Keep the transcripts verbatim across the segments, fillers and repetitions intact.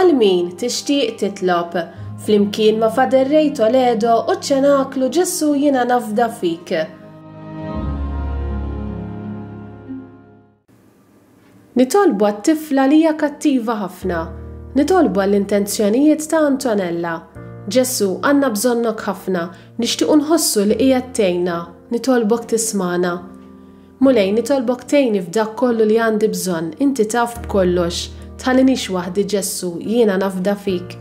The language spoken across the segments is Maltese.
Għal min tixtieq titlob flimkien ma' Father Ray Toledo u ċ-Ċenaklu Ġesù Jiena Nafda Fik. Nitolbu għat-tifla li hija kattiva ħafna. Nitolbu għall-intenzjonijiet ta' Antonella. Ġesù, għandna bżonnok ħafna, nixtiequ nħossu li qiegħed tgħinna, nitolbok tismagħna. Mulej, nitolbok tgħinni f'dak kollu li għandi bżonn, inti taf b'kollox. Tħallinix waħdi Ġesù, jiena nafda fik.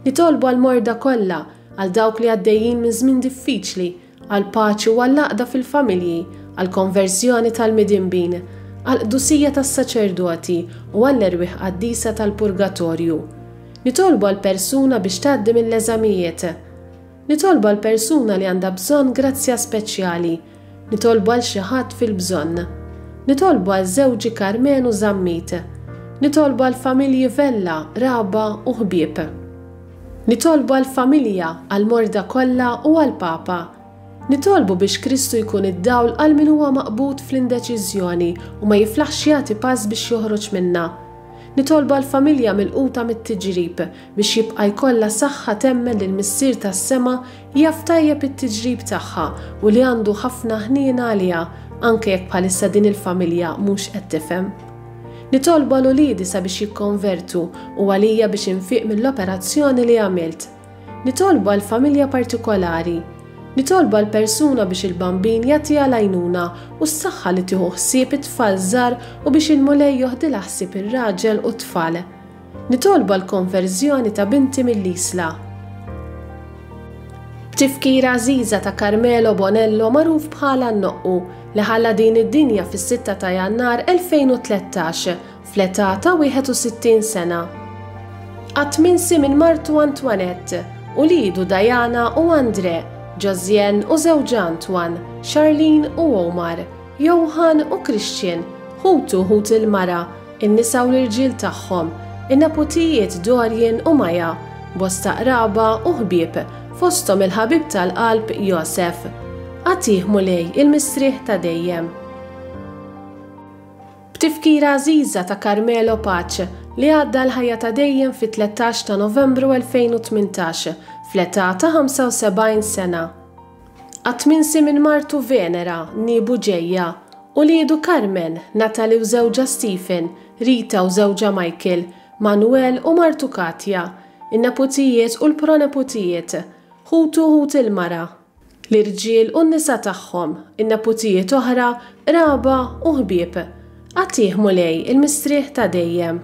Nitolbu għall-morda kollha, għal dawk li għaddejjin minn żmien diffiċli, għall-paċi u għall-għaqda fil-familji, għall-konverżjoni tal-midinbin, għall-qdusija tas-saċerdoti u għall-erwieħ qaddisa tal-purgatorju. Nitolbu għal persuna biex tgħaddi mill-eżamijiet. Nitolbu għal persuna li għandha bżonn grazzja speċjali. Nitolbu għal xi ħadd fil-bżonn. Nitolbu għal żewġi Karmenu Zammit. Nitolbu għal familji Vella, Raba u ħbieb. Nitolbu għal familja, għal morda kollha u għal Papa. Nitolbu biex Kristu jkun id-dawl għal min huwa maqbud fl-indeċiżjoni u ma jiflaħx jagħti pass biex joħroġ minnha. Nitolbu għal familja milquta mit-tiġrib biex jibqa' jkollha saħħa temmen li l-Missier tas-sema jaf tajjeb it-tiġrib tagħha u li għandu ħafna ħniena għaliha anke jekk bħalissa din il-familja mhux qed tifhem. Nitolbu għal uliedi sabiex jikkonvertu u għalija biex infiq mill-operazzjoni li għamilt. Nitolbu għal familja partikolari. Nitolbu għal persuna biex il-bambin jagħtiha l-għajnuna u s-saħħa li tieħu ħsieb it-tfal żgħar u biex il-Mulej joħdilha ħsieb ir-raġel u t-tfal. Nitolbu għal konverżjoni ta' binti mill-Isla. B'tifkira għażiża ta' Carmelo Bonello magħruf bħala n-Noqqu li ħalla din id-dinja fis-sitta ta' Jannar elfejn u tlettax fl-età ta' wieħed u sittin sena. Qatt minsi minn martu Antoinette, ulidu Diana u Andre, Josiane u żewġha Antoine, Charlene u Omar, Johan u Christian, ħutu ħut il-mara, in-nisa u l-irġiel tagħhom, in-neputijiet Dorian u Maja, bosta qraba u ħbieb, fosthom il-ħabib tal-qalb Josef. Għatih Mulej il-mistrieħ ta' dejjem. B'tifkira għażiża ta' Carmelo Pace li għadda l-ħajja ta' dejjem fit-tlettax ta' Novembru elfejn u tmintax fl-età ta' ħamsa u sebgħin sena. Qatt minsi minn martu Venera, Nibu Ġejja, uliedu Carmen, Natalie u żewġha Stephen, Rita u żewġha Michael, Manuel u martu Katja, in-neputijiet u l-proneputijiet, ħutu ħut il-mara, l-irġiel u n-nisa tagħhom, in-neputijiet oħra, qraba u ħbieb. Għatih Mulej il-mistrieħ ta' dejjem.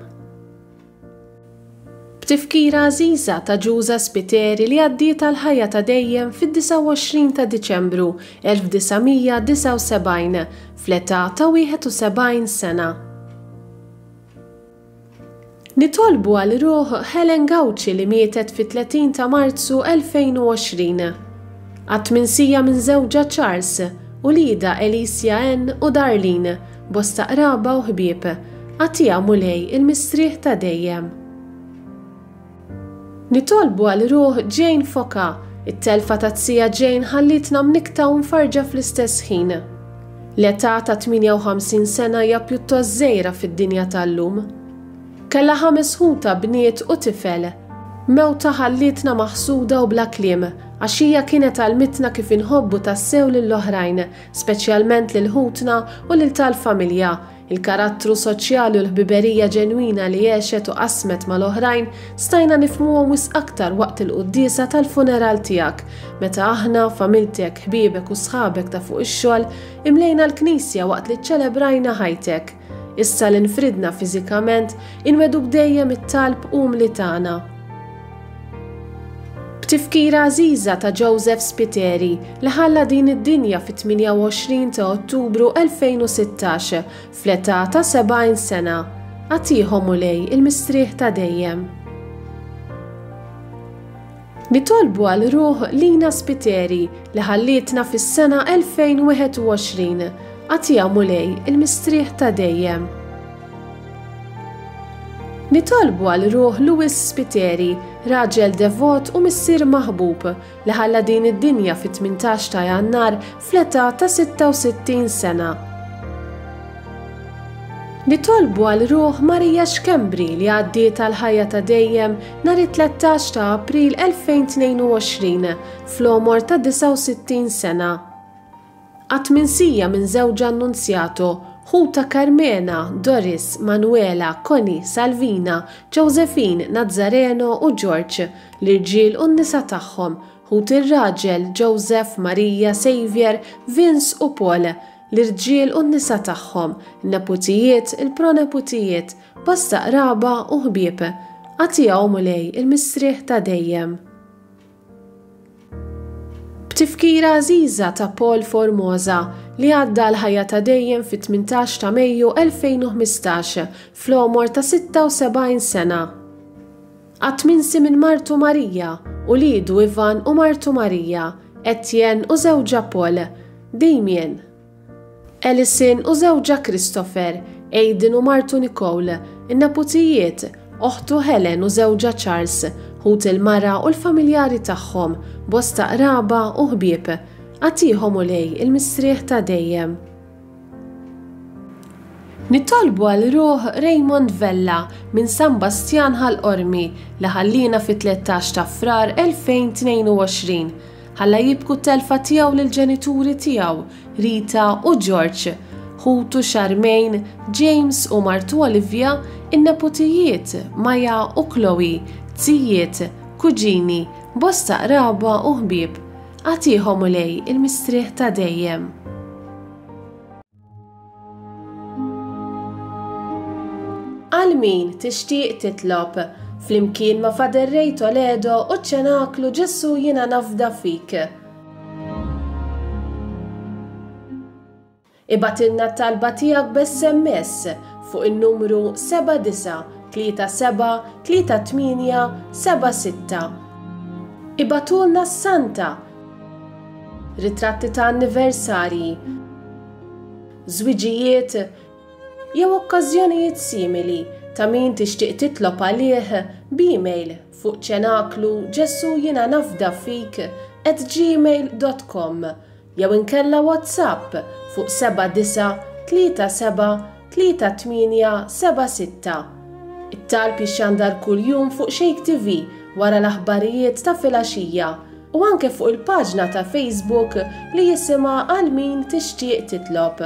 B'tifkira għażiża ta' Ġuża Spiteri li għaddiet għall-ħajja ta' dejjem fid-disgħa u għoxrin ta' Diċembru elf disa' mija disgħa u sebgħin fl-età ta' wieħed u sebgħin sena. Nitolbu għal ruħ Helen Gauci li mietet fit-tletin ta' Marzu elfejn u għoxrin. Qatt minsija minn żewġha Charles, ulida Alicia Ann u Darlene, bosta qraba u ħbieb. Għatija Mulej il-mistrieħ ta' dejjem. Nitolbu għal ruħ Jane Foka, it-telfa ta' tija Jane ħallitna mnikta u mfarġa fl-istess ħin. L-età ta' tmienja u ħamsin sena hija pjuttost żgħira fid-dinja tal-lum. Kellha ħames ħuta bniet u tifel. Mewta ħallitna maħsuda u bla kliem, għax hija kienet għalmitna kif inħobbu tassew lill-oħrajn, speċjalment lil ħutna u lil tal-familja. Il-karattru soċjali u l-ħbiberija ġenwina li għexet u qasmet mal-oħrajn stajna nifhmuhom wisq aktar waqt il-quddiesa tal-funeral tiegħek, meta aħna, familtek, ħbiebek u sħabek ta' fuq ix-xogħol imlejna l-knisja waqt li ċċelebrajna ħajtek. Issa li nfridna fiżikament, inweduk dejjem it-talb umli tagħna. B'tifkira għażiża ta' Joseph Spiteri li ħalla din id-dinja fit-tmienja u għoxrin ta' Ottubru elfejn u sittax fl-età ta' sebgħin sena. Għatihom Mulej il-mistrieħ ta' dejjem. Nitolbu għal ruħ Lina Spiteri li ħallietna fis-sena elfejn u wieħed u għoxrin. Għatija Mulej il-mistrieħ ta' dejjem. Nitolbu għal ruħ Louis Spiteri, raġel devot u missier maħbub li ħalla din id-dinja fit-tmintax ta' Jannar fl-età ta' sitta u sittin sena. Nitolbu għal ruħ Marija Schembri li għaddiet għal ħajja ta' dejjem nhar it-tlettax ta' April elfejn tnejn u għoxrin fl-għomor ta' disgħa u sittin sena. Qatt minsija minn żewġha Annunziato, ħuta Carmena, Doris, Manuela, Connie, Salvina, Josephine, Nazareno u George, l-irġiel u n-nisa tagħhom, ħut ir-raġel Joseph, Maria, Xavier, Vince u Paul, l-irġiel u n-nisa tagħhom, neputijiet, il-proneputijiet, bosta qraba u ħbieb. Agħtihom Mulej il-mistrieħ ta' dejjem. B'tifkira għażiża ta' Paul Formosa li għadda l-ħajja ta' dejjem fit-tmintax ta' Mejju elfejn u ħmistax fl-għomor ta' sitta u sebgħin sena. Qatt minsi minn martu Marija, u lidu Ivan u martu Marija, Etienne u żewġha Paul, Damien, Alison u żewġha Christopher, Aiden u martu Nicole, in-neputijiet, oħtu Helen u żewġha Charles, ħut il-mara u l-familjari tagħhom, bosta qraba u ħbieb. Agħtihom Mulej il-mistrieħ ta' dejjem. Nitolbu għal ruħ Raymond Vella minn San Bastian Ħal Qormi li ħallina fit-tlettax ta' Frar elfejn tnejn u għoxrin. Ħalla jibku t-telfa tiegħu lill-ġenituri tiegħu, Rita u George, ħutu Charmaine, James u martu Olivia, in-neputijiet Maja u Chloe, tzijiet, kuġini, bosta qraba u ħbieb. Agħtihom Mulej il-mistrieħ ta' dejjem. Għal min tixtieq titlob, flimkien ma' Father Ray Toledo u ċenaklu Ġesu jiena nafda fik. Ibgħatilna t-talba tiegħek b'S M S fuq in-numru seba' disa' tlieta seba' tlieta tmienja seba' sitta. Ibgħatulna s-Santa, ritratti ta' anniversarji, żwiġijiet jew okkażjonijiet simili ta' min tixtieq titlob għalih b'email fuq ċenaklu Ġesu jiena nafda fik at gmail dot com jew inkella WhatsApp fuq seba' disa' tlieta seba' tlieta tmienja seba' sitta. It-talb jixxandar kuljum fuq Shake T V wara l-aħbarijiet ta' filgħaxija u anke fuq il-paġna ta' Facebook li jisimha għal min tixtieq titlob.